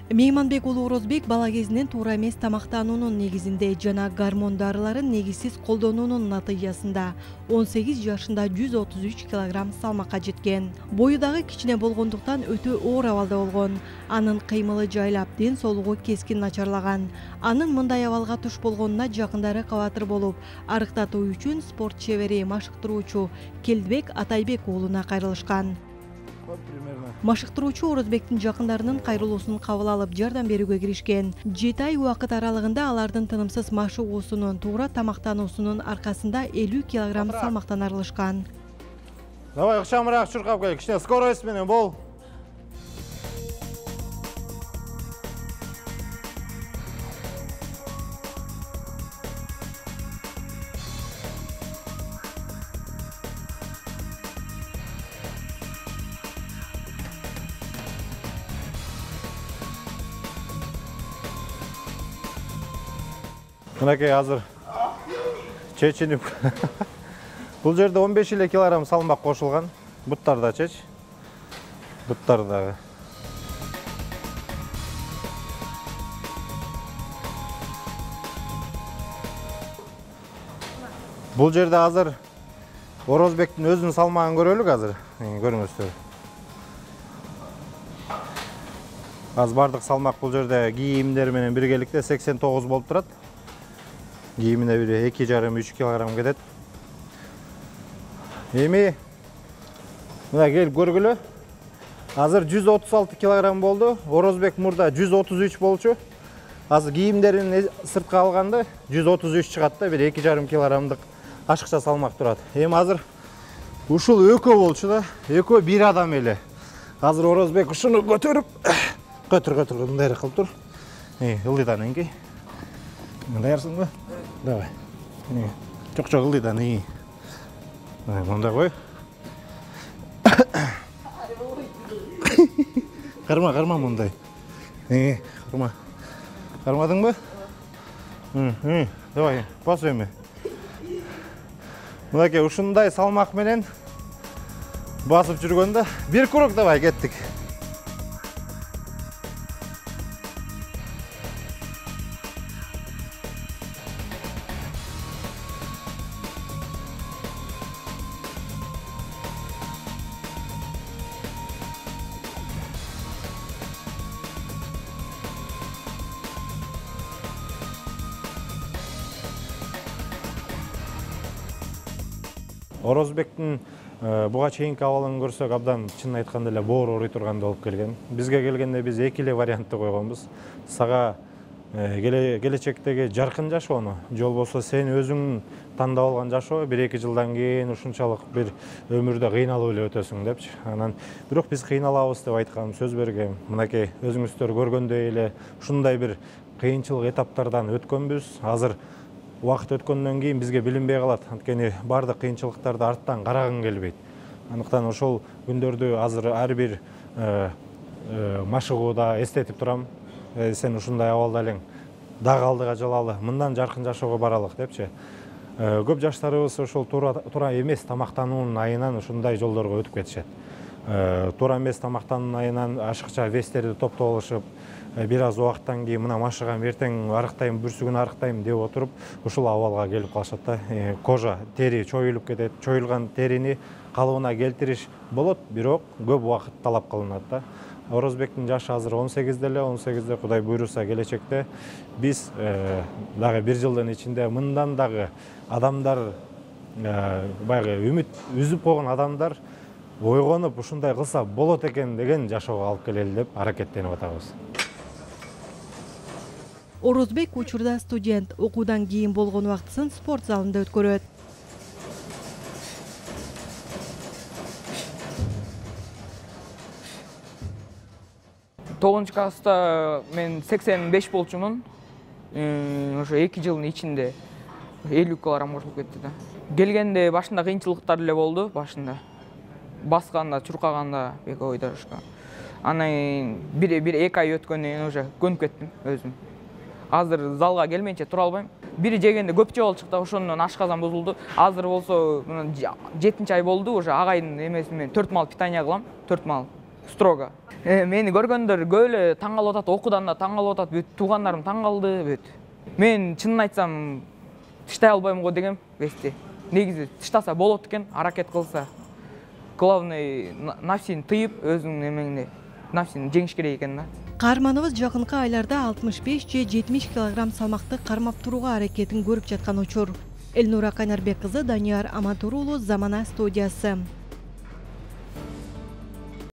Мейманбек уулу Орозбек бала кезинен туура эмес тамактануунун негизинде жана гормон дарыларын негизсиз колдонуунун натыйжасында 18 жашында 133 килограмм салмакка жеткен. Бою дагы кичине болгондуктан өтө оор абалда болгон. Анын кыймылы жайлап, ден соолугу кескин начарлаган. Анын мындай абалга туш болгонуна жакындары кабатыр болуп, арыктатуу үчүн спорт чебери, машыктыруучу Келдибек Атайбек уулуна кайрылышкан. Машыктыруучу Орозбектин жакындарынын кайрылуусун кабыл алып, жардам берүүгө киришкен. 7 ай убакыт аралыгында алардын тынымсыз машыгуусунун, туура тамактануусунун аркасында 50 килограмм салмактан арылышкан. Давай ыкчамыраак чуркап кел, кичине скорость менен бол. Мынакей азыр чечинип. Бул жерде 15 эле килограмм салмак кошулган. Буттар да чеч. Буттар дагы. Бул жерде азыр Орозбектин өзүнүн салмагын көрөлүк азыр. Көрүңүздөр. Аз бардык салмак бул жерде кийимдер менен биргеликте 89 болуп турат. Кийимине бир 2,5-3 килограмм кетет. Эми мына келип көргүлө. Азыр 136 килограмм болду. Орозбек мурда 133 болчу. Азыр кийимдерин сыртка алганда 133 чыгат да, бир 2,5 килограммдык ашыкча салмак турат. Эми азыр ушул экөө болчу да, экөө бир адам эле. Азыр Орозбек ушуну көтөрүп, көтөр мындай кылып тур. Ылдыйдан эңкей. Даярсыңбы? Давай. Чок ылдыйдан ий. Мындай кой. Карма мындай. Карма. Кармадыңбы? Давай, бас эми. Мынакей ушундай салмак менен басып жүргөндө бир круг давай кеттик. Орозбектин буга чейинки абалын көрсөк, абдан чын айтканда эле боор ооруй турганда болуп келген. Бизге келгенде биз эки эле вариантты койгонбуз. Сага келечектеги жаркын жашоону, же болбосо сен өзүң тандап алган жашоо 1-2 жылдан кийин ушунчалык бир өмүрдө кыйналып эле өтөсүң депчи. Анан бирок биз кыйналабыз деп айткам, сөз бергем. Мынакей өзүңүздөр көргөндөй эле ушундай бир кыйынчылык этаптардан өткөнбүз. Азыр убакыт өткөндөн кийин бизге билинбей калат. Анткени бардык кыйынчылыктарды арттан карагың келбейт. Андыктан ошол күндөрдү азыр ар бир машыгууда эстетип турам. Сен ушундай абалда элең, дагы алдыга жылалы, мындан жаркын жашоого баралык депчи. Көп жаштарыбыз ошол туура эмес тамактануунун айынан ушундай жолдорго өтүп кетишет. Туура эмес тамактануунун айынан ашыкча вестерди топтоп алышып, бир аз убакыттан кийин мына машыгам, эртең арыктайм, бүрсүгүн арыктайм деп отуруп, ушул абалга келип калышат да. Кожа, тери чоюлуп кетет. Чоюлган терини калыбына келтириш болот, бирок көп убакыт талап кылынат да. Орозбектин жашы азыр 18 деле, 18де Кудай буйруса келечекте биз дагы бир жылдын ичинде мындан дагы адамдар, баягы үмүт үзүп койгон адамдар ойгонуп ушундай кылса болот экен деген жашоого алып келели деп аракеттенип атабыз. Орозбек учурда студент, окуудан кийин болгон убактысын спорт залында өткөрөт. Тогузунчу класста мен 85 болчумун. Ошо 2 жылдын ичинде 50 килограмм кошулуп кетти да. Келгенде башында кыйынчылыктар эле болду, башында. Басканда, чуркаганда бек ойдошко. Анан бир 2 ай өткөндөн кийин уже көнүп кеттим өзүм. Азыр залга келмейинче тура албайм. Бири жегенде көп жеп алчык да, ошондон ашказан бузулду. Азыр болсо 7-ай болду, уже агайдын эмеси менен 4 мал питание кылам, 4 мал. строго. Мени көргөндөр көп эле таң калып атат, окуудан да таң калып атат, бүт туугандарым таң калды, бүт. Мен чынын айтсам тыштай албайм го дегем вести. Негизи тыштаса болот экен, аракет кылса. Главный нафсини тыйып, өзүңдүн эмеңди, нафсини жеңиш керек экен да. Каарманыбыз жакынкы айларда 65 же 70 килограмм салмакты кармап турууга аракетин көрүп жаткан учур. Элнура Кайнарбек кызы, Данияр Аматур уулу, Замана студиясы.